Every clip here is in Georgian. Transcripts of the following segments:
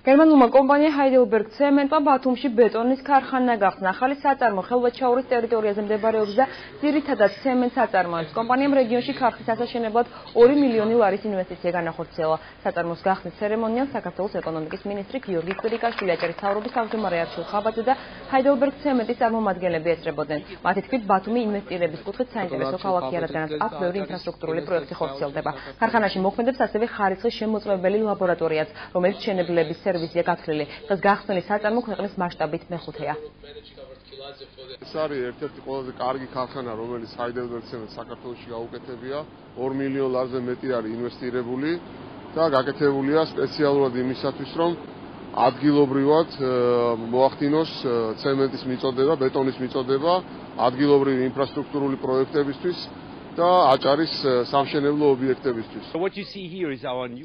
გერმანულმა კომპანია Heidelberg Cement-მა ბათუმში ბეტონის ქარხანა გახსნა. ახალი საწარმო ხელვაჩაურის ტერიტორიაზე მდებარეობს და ძირითადად ცემენტს აწარმოებს. კომპანიამ რეგიონში ქარხნის ასაშენებლად 2 მილიონი ლარის ინვესტიცია განახორციელა. საწარმოს გახსნის ცერემონიალს საქართველოს ეკონომიკის მინისტრი გიორგი კვირიკაშვილი, აჭარის მთავრობის თავმჯდომარე არჩილ ხაბაძე და Heidelberg Cement-ის წარმომადგენლები ესწრებოდნენ. მათი თქმით, ბათუმი ინვესტირების კუთხით საინტერესო ქალაქია, რადგანაც აქ ბევრი ინფრასტრუქტურული პროექტი ხორციელდება. ქარხანაში მოქმედებს ასევე ხარისხის შემოწმებელი ლაბორატორიაც, რომელიც მშენებლების სერვისია გათვლილი. დღეს გახსნილი საწარმო ქვეყნის მასშტაბით მეხუთეა. ეს არის ერთ-ერთი ყველაზე კარგი ქარხანა, რომელიც Heidelberg Cement საქართველოში გაუკეთებია. 2 მილიონ ლარზე მეტი არის ინვესტირებული და გაკეთებულია სპეციალურად იმისათვის, რომ ადგილობრივად მოახდინოს ცემენტის მიწოდება, ბეტონის მიწოდება ადგილობრივი ინფრასტრუქტურული პროექტებისთვის და აჭარის სამშენებლო ობიექტებისთვის.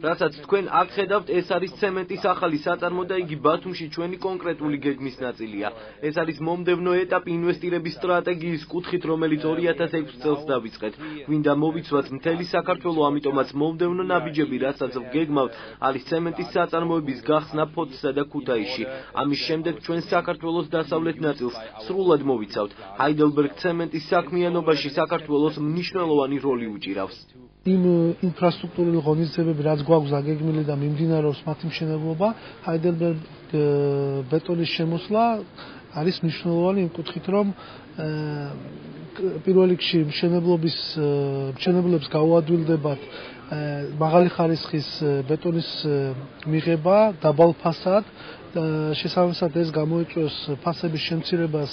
რასაც თქვენ აქ ხედავთ, ეს არის ცემენტის ახალი საწარმო და იგი ბათუმში ჩვენი კონკრეტული გეგმის ნაწილია. ეს არის მომდევნო ეტაპი ინვესტირების სტრატეგიის კუთხით, რომელიც 2006 წელს დავიწყეთ. გვინდა მოვიცვათ მთელი საქართველო, ამიტომაც მომდევნო ნაბიჯები, რასაც ვგეგმავთ, არის ცემენტის საწარმოების გახსნა ფოთსა და ქუთაისში. ამის შემდეგ ჩვენ საქართველოს დასავლეთ ნაწილს სრულად მოვიცავთ. Heidelberg Cement-ის საქმიანობაში საქართველოს მნიშვნელოვანი როლი უჭირავს. იმ ინფრასტრუქტურული ღონისძიებები, რაც გვაქვს დაგეგმილი და მიმდინარეობს მათი მშენებლობა, Heidelberg ბეტონის შემოსვლა არის მნიშვნელოვანი იმ კუთხით, რომ პირველ რიგში მშენებლებს გაუადვილდებათ მაღალი ხარისხის ბეტონის მიღება, დაბალ ფასად, შესაბამისად ეს გამოიწვევს ფასების შემცირებას